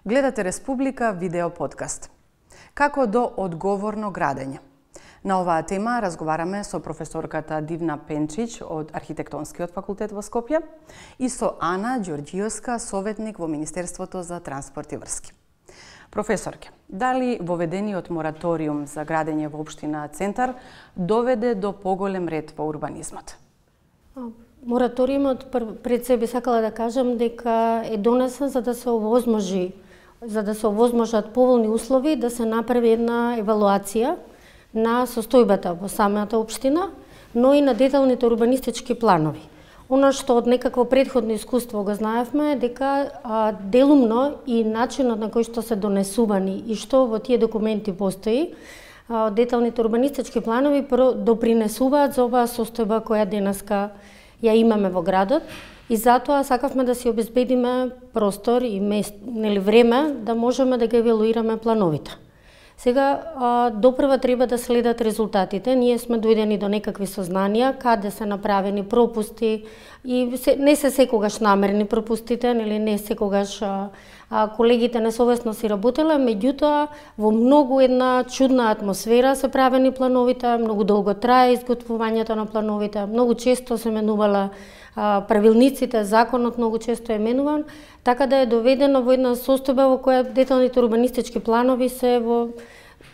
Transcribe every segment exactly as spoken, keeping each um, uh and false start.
Гледате Республика видео подкаст. Како до одговорно градење? На оваа тема разговараме со професорката Дивна Пенчич од Архитектонскиот факултет во Скопје и со Ана Ѓорѓиевска, советник во Министерството за транспорт и врски. Професорке, дали воведениот мораториум за градење во општина Центар доведе до поголем ред во урбанизмот? Мораториумот пред се би сакала да кажам дека е донесен за да се овозможи за да се овозможат поволни услови да се направи една евалуација на состојбата во самата општина, но и на деталните урбанистички планови. Она што од некакво претходно искуство го знаевме дека а, делумно и начинот на кој што се донесувани и што во тие документи постои, а, деталните урбанистички планови допринесуваат за оваа состојба која денеска ја имаме во градот. И затоа сакавме да си обезбедиме простор и мест, нели време да можеме да ги евалуираме плановите. Сега допрва треба да следат резултатите. Ние сме дојдени до некакви сознанија каде се направени пропусти и се, не се секогаш намерни пропустите, нели не секогаш а, а, колегите несовесно си работеле, меѓутоа во многу една чудна атмосфера се правени плановите, многу долго трае изготвувањето на плановите, многу често се менувала правилниците, законот многу често е менуван, така да е доведено во една состојба во која деталните урбанистички планови се во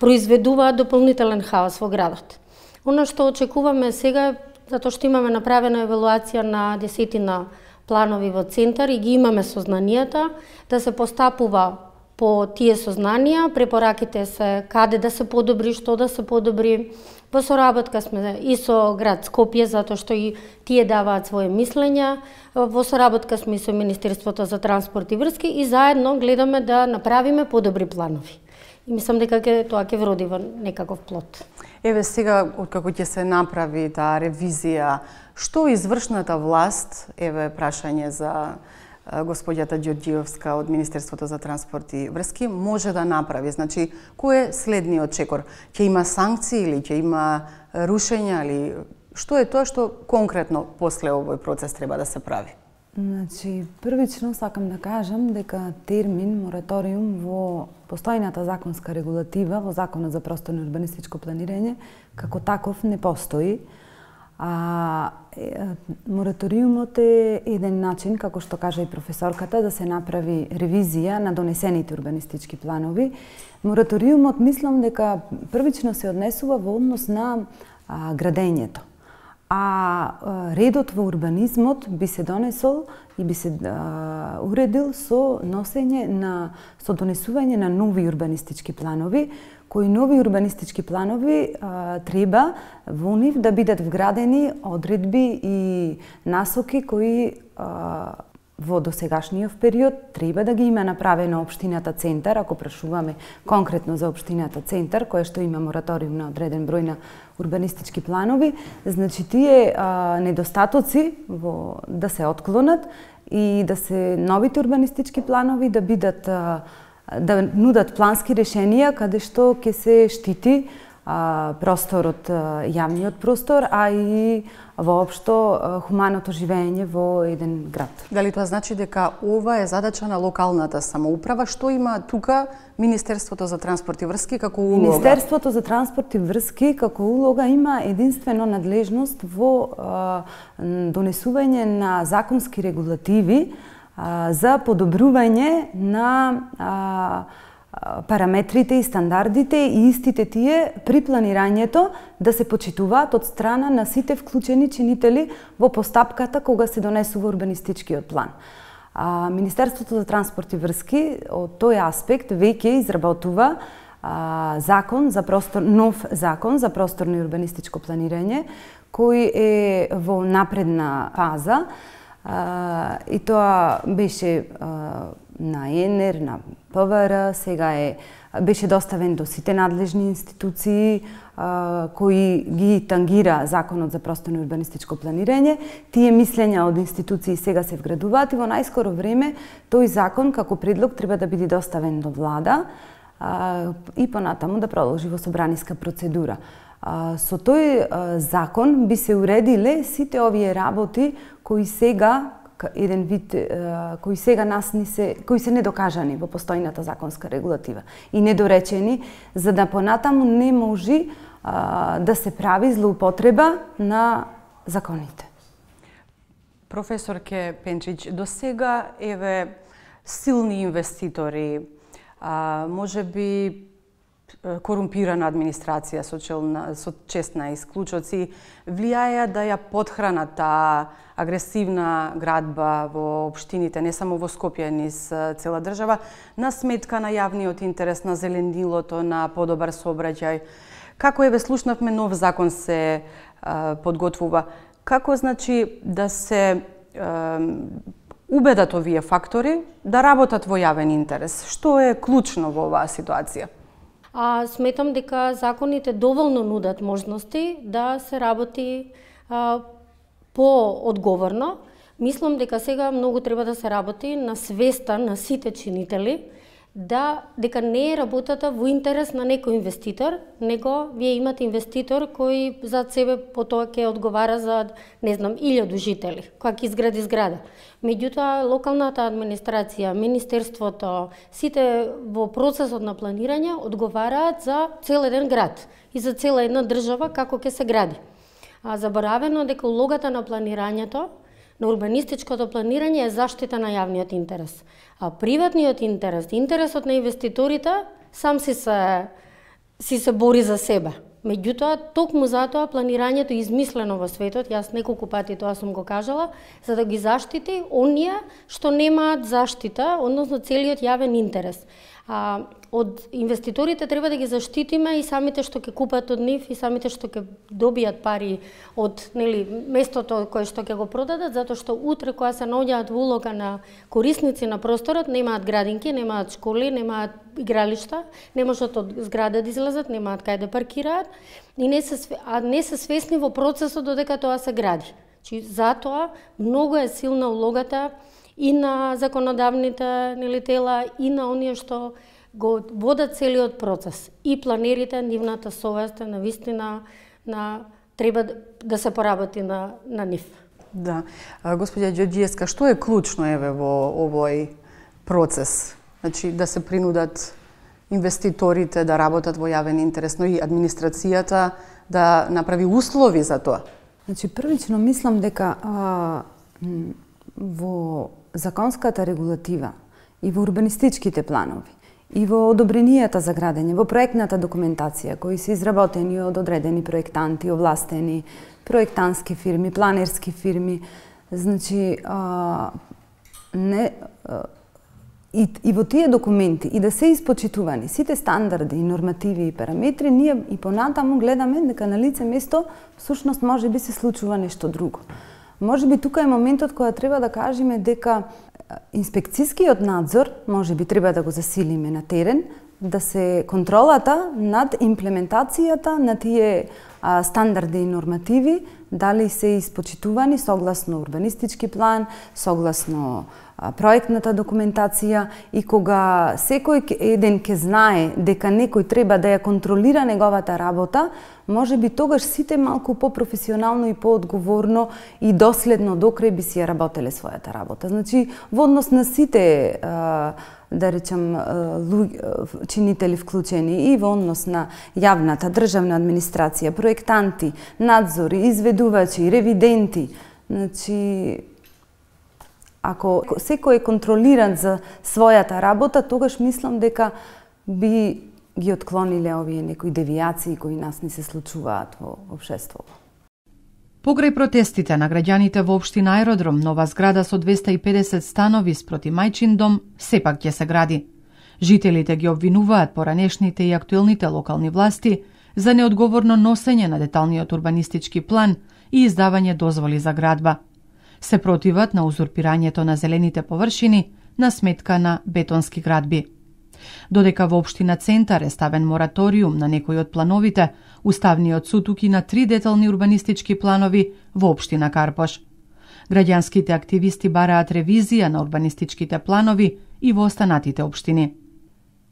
произведуваат дополнителен хаос во градот. Оно што очекуваме сега, затоа што имаме направена евалуација на десетина планови во Центар и ги имаме сознанијата, да се постапува по тие сознанија, препораките се каде да се подобри, што да се подобри. Во соработка сме и со град Скопје, затоа што и тие даваат своје мислења. Во соработка сме и со Министерството за транспорт и врски и заедно гледаме да направиме подобри планови. И мислам дека ке, тоа ќе вроди во некаков плод. Еве сега, откако ќе се направи таа ревизија, што извршната власт, еве прашање за господјата Ѓорѓиевска од Министерството за транспорт и врски, може да направи? Значи, кој е следниот чекор? Ќе има санкции или ќе има рушења или што е тоа што конкретно после овој процес треба да се прави? Значи, првично сакам да кажам дека термин мораториум во постојната законска регулатива во Законот за просторно урбанистичко планирање како таков не постои. А мораториумот е еден начин, како што кажа и професорката, да се направи ревизија на донесените урбанистички планови. Мораториумот мислам дека првично се однесува во однос на а, градењето. А, а редот во урбанизмот би се донесол и би се а, уредил со носење на со донесување на нови урбанистички планови, кои нови урбанистички планови а, треба во нив да бидат вградени одредби и насоки кои а, во досегашниот период треба да ги има направено општината Центар, ако прашуваме конкретно за општината Центар, која што има мораториум на одреден број на урбанистички планови, значи тие а, недостатоци во, да се отклонат и да се новите урбанистички планови да бидат а, да нудат плански решенија каде што ќе се штити а, просторот, а, јавниот простор, а и воопшто а, хуманото живење во еден град. Дали тоа значи дека ова е задача на локалната самоуправа? Што има тука Министерството за транспорт и врски како улога? Министерството за транспорт и врски како улога има единствено надлежност во а, донесување на законски регулативи за подобрување на а, параметрите и стандардите и истите тие при планирањето да се почитуваат од страна на сите вклучени чинители во постапката кога се донесува урбанистичкиот план. А, Министерството за транспорт и врски од тој аспект веќе изработува а, закон за простор, нов закон за просторно и урбанистичко планирање кој е во напредна фаза. Uh, и тоа беше uh, на ЕНЕР, на ПВР, сега е беше доставен до сите надлежни институции uh, кои ги тангира Законот за просторно и урбанистичко планирање. Тие мислења од институции сега се вградуваат и во најскоро време тој закон како предлог треба да биде доставен до влада uh, и понатаму да продолжи во собраниска процедура. Со тој закон би се уредиле сите овие работи кои сега еден вид кои сега нас не се кои се недокажани во постојната законска регулатива и недоречени, за да понатаму не може а, да се прави злоупотреба на законите. Професорке Пенчич, до сега еве силни инвеститори, а, може би корумпирана администрација со, челна, со честна исклучоци влијаја да ја подхранат таа агресивна градба во општините, не само во Скопје, низ цела држава, на сметка на јавниот интерес, на зеленилото, на подобар сообраќај. Како еве слушнавме, нов закон се а, подготвува. Како значи да се а, убедат овие фактори да работат во јавен интерес? Што е клучно во оваа ситуација? А сметам дека законите доволно нудат можности да се работи а, по-одговорно. Мислам дека сега многу треба да се работи на свеста на сите чинители, да дека не е работата во интерес на некој инвеститор, него вие имате инвеститор кој за себе потоа ќе одговара за, не знам, илјаду жители, која ќе изгради зграда. Меѓутоа, локалната администрација, министерството, сите во процесот на планирање одговараат за цел еден град и за цела една држава како ќе се гради. А заборавено дека улогата на планирањето, на урбанистичкото планирање е заштита на јавниот интерес. А приватниот интерес, интересот на инвеститорите, сам си се, си се бори за себе. Меѓутоа, токму затоа планирањето е измислено во светот, јас неколку пати тоа сум го кажала, за да ги заштити оние што немаат заштита, односно целиот јавен интерес. А, од инвеститорите треба да ги заштитиме и самите што ќе купат од нив и самите што ќе добијат пари од, нели, местото кое што ќе го продадат, затоа што утре кога се наоѓаат во улога на корисници на просторот, немаат градинки, немаат школи, немаат игралишта, не можат од зграда да излезат, немаат кај да паркираат и не се, а не се свесни во процесот додека тоа се гради. Чи затоа многу е силна улогата и на законодавните, нели, тела, и на оние што го водат целиот процес. И планерите, нивната совест, на вистина, на треба да се поработи на, на нив. Да. Господја Ѓорѓиевска, што е клучно еве во овој процес? Значи, да се принудат инвеститорите да работат во јавен интерес, но и администрацијата да направи услови за тоа? Значи, првично мислам дека а, во законската регулатива и во урбанистичките планови и во одобренијата за градење, во проектната документација кои се изработени од одредени проектанти, овластени, проектански фирми, планерски фирми, значи а, не а, и, и во тие документи и да се испочитувани сите стандарди и нормативи и параметри, ние и понатаму гледаме дека на лице место всушност може би се случува нешто друго. Може би тука е моментот кога треба да кажеме дека инспекцијскиот надзор може би треба да го засилиме на терен, да се контролата над имплементацијата на тие а, стандарди и нормативи, дали се испочитувани согласно урбанистички план, согласно а, проектната документација, и кога секој еден ќе знае дека некој треба да ја контролира неговата работа, може би тогаш сите малку по-професионално и по-одговорно и доследно докрај би си ја работеле својата работа. Значи, во однос на сите, да речем, чинители вклучени и во однос на јавната државна администрација, проектанти, надзори, изведувачи, ревиденти, значи, ако секој е контролиран за својата работа, тогаш мислам дека би ги отклониле овие некои девијации кои нас не се случуваат во општеството. Покрај протестите на граѓаните во општина Аеродром, нова зграда со двесте и педесет станови спроти мајчин дом сепак ќе се гради. Жителите ги обвинуваат поранешните и актуелните локални власти за неодговорно носење на деталниот урбанистички план и издавање дозволи за градба. Се противат на узурпирањето на зелените површини на сметка на бетонски градби. Додека во општина Центар е ставен мораториум на некои од плановите, Уставниот суд укина три детални урбанистички планови во општина Карпош. Граѓанските активисти бараат ревизија на урбанистичките планови и во останатите општини.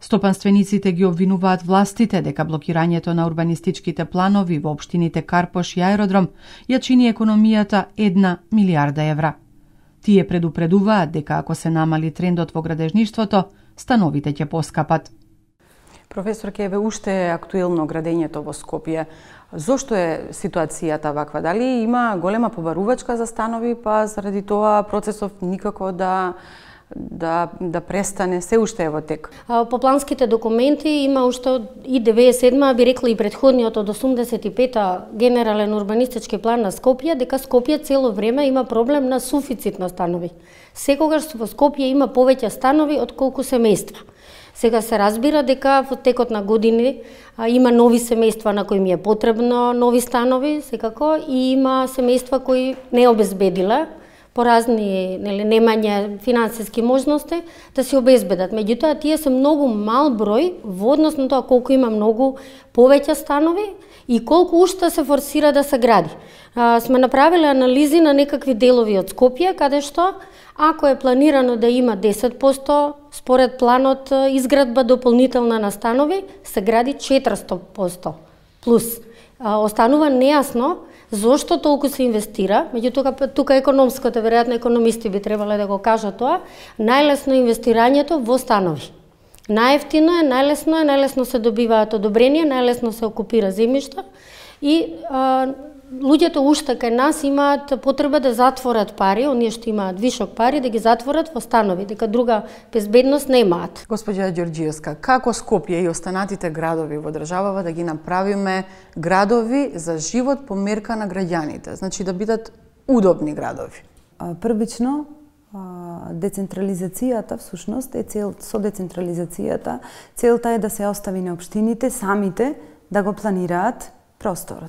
Стопанствениците ги обвинуваат властите дека блокирањето на урбанистичките планови во општините Карпош и Аеродром ја чини економијата една милијарда евра. Тие предупредуваат дека ако се намали трендот во градежништвото, становите ќе поскапат. Професор Кеве, уште е актуелно градењето во Скопје. Зошто е ситуацијата ваква? Дали има голема побарувачка за станови, па заради тоа процесов никако да да да престане, се уште е во тек? По планските документи има уште и деветдесет и седма, би рекла и претходниот од осумдесет и пета генерален урбанистички план на Скопје, дека Скопје цело време има проблем на суфицит на станови. Секогаш во Скопје има повеќе станови од колку семејства. Сега се разбира дека во текот на години а, има нови семејства на кои ми е потребно нови станови, секако, и има семејства кои не обезбедила по разни, нели, немање финансиски можности да се обезбедат. Меѓутоа, тие се многу мал број во однос на тоа колку има многу повеќе станови и колку уште се форсира да се гради. А, сме направиле анализи на некакви делови од Скопје, каде што ако е планирано да има десет проценти според планот изградба дополнителна на станови, се гради четиристо проценти плюс. А, останува нејасно зошто толку се инвестира, меѓутоа тука економското, веројатно економисти би требале да го кажат тоа, најлесно е инвестирањето во станови. Најевтино е, најлесно е, најлесно се добиваат одобрение, најлесно се окупира земјишта и а, луѓето уште кај нас имаат потреба да затворат пари, оние што имаат вишок пари, да ги затворат во станови, дека друга безбедност немаат. Господја Ѓорѓиевска, како Скопје и останатите градови во државава да ги направиме градови за живот по мерка на граѓаните, значи да бидат удобни градови? Првично, децентрализацијата всушност е цел, со децентрализацијата целта е да се остави на општините самите да го планираат просторот.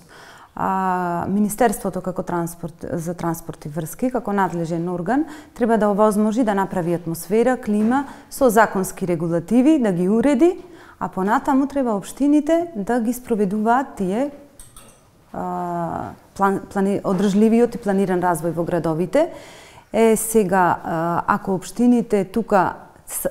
А, Министерството како транспорт, за транспорт и врски, како надлежен орган, треба да овозможи да направи атмосфера, клима со законски регулативи, да ги уреди, а понатаму треба општините да ги спроведуваат тие а, план, плани, одржливиот и планиран развој во градовите. Е, сега, а, ако општините тука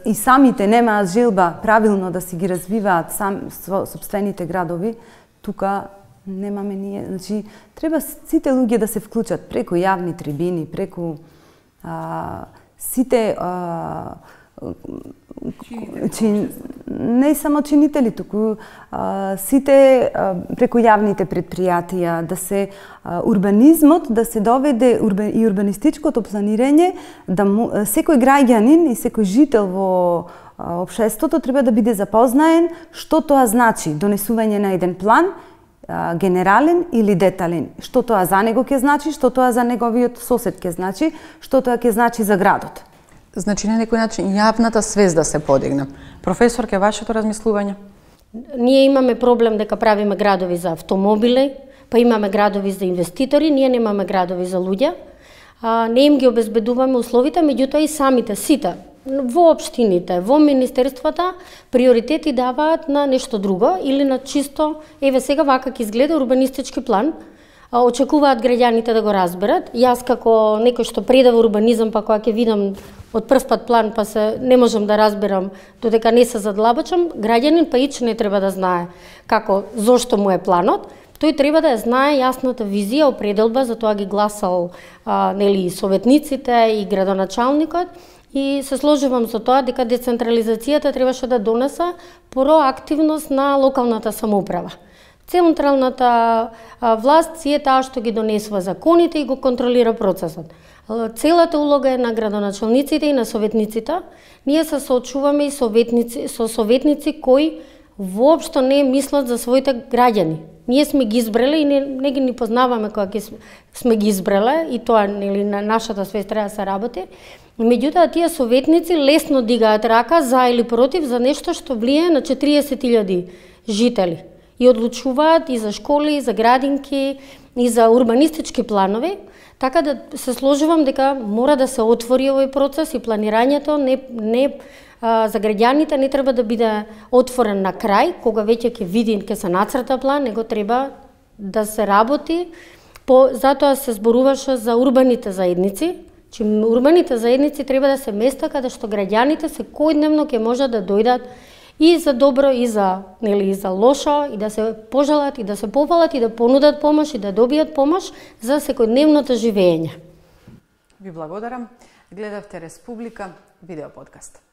и самите немаат желба правилно да си ги развиваат сам, собствените градови, тука немаме ние, значи треба сите луѓе да се вклучат преку јавни трибини, преку а, сите а, чин, не само чинители, туку а, сите а, преку јавните претпријатија, да се а, урбанизмот, да се доведе урбан, и урбанистичкото планирање, да му, секој граѓанин и секој жител во а, општеството треба да биде запознаен што тоа значи донесување на еден план, генерален или детален. Што тоа за него ќе значи, што тоа за неговиот сосед ќе значи, што тоа ќе значи за градот. Значи на некој начин јавната свест да се подигне. Професор, ке вашето размислување? Ние имаме проблем дека правиме градови за автомобили, па имаме градови за инвеститори, ние немаме градови за луѓе. А, не им ги обезбедуваме условите, меѓутоа и самите сите во општините, во министерствата, приоритети даваат на нешто друго или на чисто, еве сега вака ќе изгледа урбанистички план, а, очекуваат граѓаните да го разберат. Јас како некој што предава урбанизам, па кога ќе видам од прв пат план, па се не можам да разберам додека не се задлабочам, граѓанин па ич не треба да знае како, зошто му е планот. Тој треба да ја знае јасната визија, определба, за тоа ги гласал а, нели советниците и градоначалникот. И се сложувам со тоа дека децентрализацијата требаше да донесе проактивност на локалната самоуправа. Централната власт си е таа што ги донесува законите и го контролира процесот. Целата улога е на градоначалниците и на советниците. Ние се соочуваме и советници, со советници кои воопшто не мислат за своите граѓани. Ние сме ги избрале и не, не ги ни познаваме кога ги сме ги избрале и тоа нели на нашата свест треба да се работи. Меѓутоа тие советници лесно дигаат рака за или против за нешто што влијае на четириесет илјади жители и одлучуваат и за школи, и за градинки, и за урбанистички планови, така да се сложувам дека мора да се отвори овој процес и планирањето не не а, за граѓаните не треба да биде отворен на крај, кога веќе ќе види, ќе се нацрта план, него треба да се работи. По затоа се зборуваше за урбаните заедници. Че урбаните заедници треба да се места каде што граѓаните секојдневно ќе можат да дојдат и за добро и за нели и за лошо и да се пожелат и да се повалат и да понудат помош и да добијат помош за секојдневното живење. Ви благодарам. Гледавте Республика, видео подкаст.